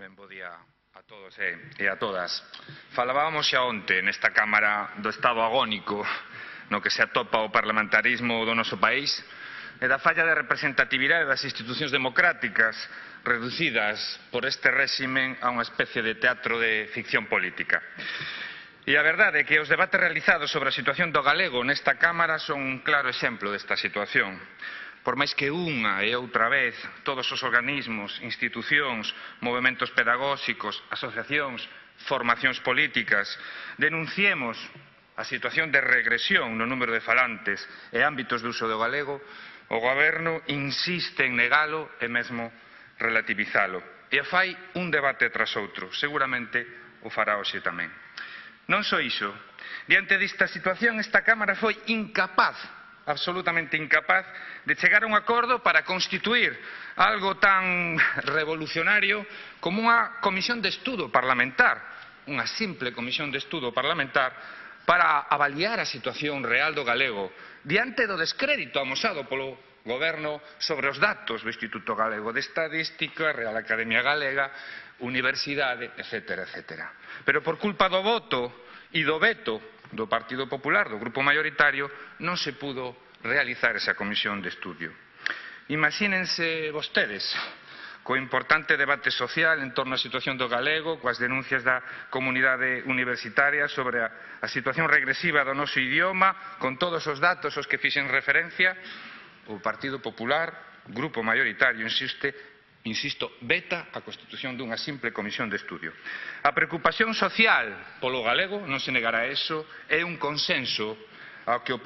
Ben, bo día a todos e a todas. Falábamos xa onte nesta Cámara do estado agónico no que se atopa o parlamentarismo do noso país e da falla de representatividade das institucións democráticas reducidas por este réximen a unha especie de teatro de ficción política. E a verdade é que os debates realizados sobre a situación do galego nesta Cámara son un claro exemplo desta situación. Por máis que unha e outra vez todos os organismos, institucións, movementos pedagóxicos, asociacións, formacións políticas denunciemos a situación de regresión no número de falantes e ámbitos de uso do galego, o Goberno insiste en negalo e mesmo relativizalo. E fai un debate tras outro, seguramente o fará hoxe tamén. Non só iso, diante desta situación esta Cámara foi incapaz, absolutamente incapaz, de chegar a un acordo para constituir algo tan revolucionario como unha comisión de estudo parlamentar, unha simple comisión de estudo parlamentar para avaliar a situación real do galego diante do descrédito amosado polo Goberno sobre os datos do Instituto Galego de Estadística, Real Academia Galega, Universidade, etc. Pero por culpa do voto e do veto do Partido Popular, do grupo maioritario, non se pudo realizar esa comisión de estudio. Imagínense vostedes co importante debate social en torno á situación do galego, coas denuncias da comunidade universitaria sobre a situación regresiva do noso idioma, con todos os datos aos que fixen referencia. O Partido Popular, grupo maioritario, insisto, veta a constitución dunha simple comisión de estudio. A preocupación social polo galego, non se negará eso, é un consenso ao que o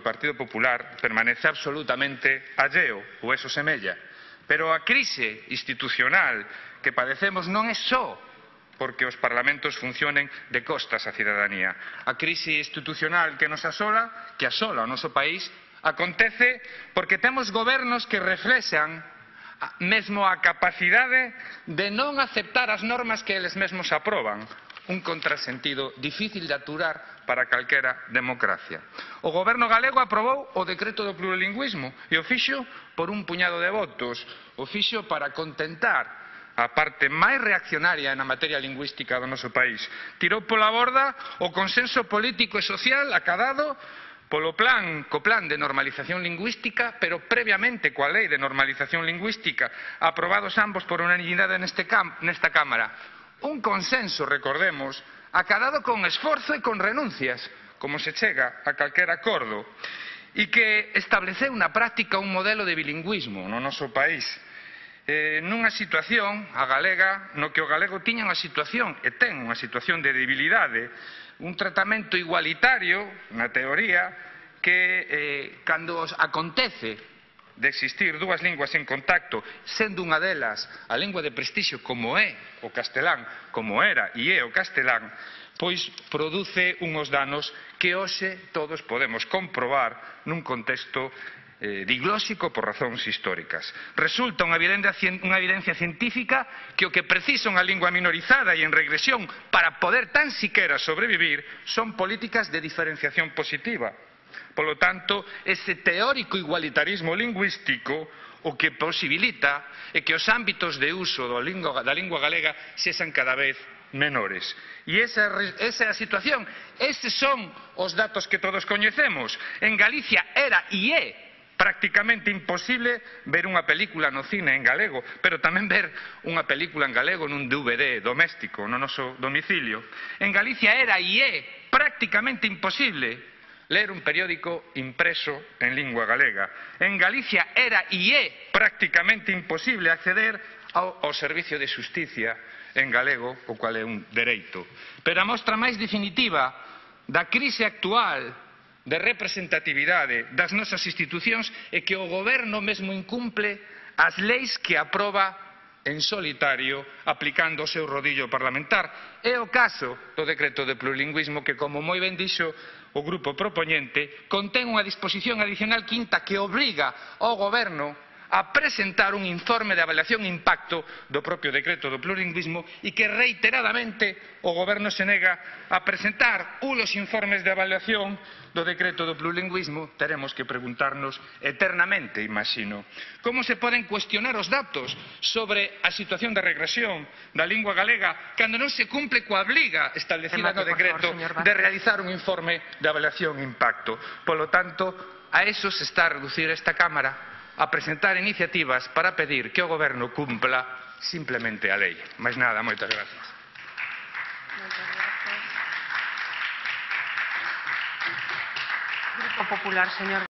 Partido Popular permanece absolutamente alleo, ou eso semella. Pero a crise institucional que padecemos non é só porque os parlamentos funcionen de costas á cidadanía. A crise institucional que nos asola, que asola o noso país, acontece porque temos gobernos que reflexan mesmo a capacidade de non aceptar as normas que eles mesmos aproban, un contrasentido difícil de aturar para calquera democracia. O goberno galego aprobou o decreto do plurilingüismo e o fixo por un puñado de votos, o fixo para contentar a parte máis reaccionaria na materia lingüística do noso país. Tirou pola borda o consenso político e social acadado co plan de normalización lingüística, pero previamente coa lei de normalización lingüística, aprobados ambos por unanimidade nesta Cámara. Un consenso, recordemos, acadado con esforzo e con renuncias, como se chega a calquera acordo, e que estableceu na práctica un modelo de bilingüismo no noso país, nunha situación, a galega, no que o galego tiña unha situación, e ten unha situación de debilidade, un tratamento igualitario, na teoría, que cando acontece de existir dúas linguas en contacto, sendo unha delas a lingua de prestixio como é o castelán, como era e é o castelán, pois produce unhos danos que hoxe todos podemos comprobar nun contexto diglóxico por razóns históricas. Resulta unha evidencia científica que o que precisa unha lingua minorizada e en regresión para poder tan siquera sobrevivir son políticas de diferenciación positiva. Polo tanto, ese teórico igualitarismo lingüístico o que posibilita é que os ámbitos de uso da lingua galega sexan cada vez menores. E esa é a situación, eses son os datos que todos coñecemos. En Galicia era e é prácticamente imposible ver unha película no cine en galego, pero tamén ver unha película en galego nun DVD doméstico no noso domicilio. En Galicia era e é prácticamente imposible ler un periódico impreso en lingua galega. En Galicia era e é prácticamente imposible acceder ao servicio de xusticia en galego, o cual é un dereito. Pero a mostra máis definitiva da crise actual de representatividade das nosas institucións é que o goberno mesmo incumple as leis que aproba en solitario aplicando o seu rodillo parlamentar. É o caso do decreto de plurilingüismo que, como moi ben dixo o grupo propoñente, contén unha disposición adicional quinta que obriga ao goberno a presentar un informe de avaliación de impacto do propio decreto do plurilingüismo e que reiteradamente o Goberno se nega a presentar unos informes de avaliación do decreto do plurilingüismo. Teremos que preguntarnos eternamente, imagino, como se poden cuestionar os datos sobre a situación de regresión da lingua galega cando non se cumpre coa obriga establecida no decreto de realizar un informe de avaliación de impacto. Polo tanto, a eso se está a reducir esta Cámara, a presentar iniciativas para pedir que o Goberno cumpla simplemente a lei. Máis nada, moitas gracias. Grupo Popular, señor.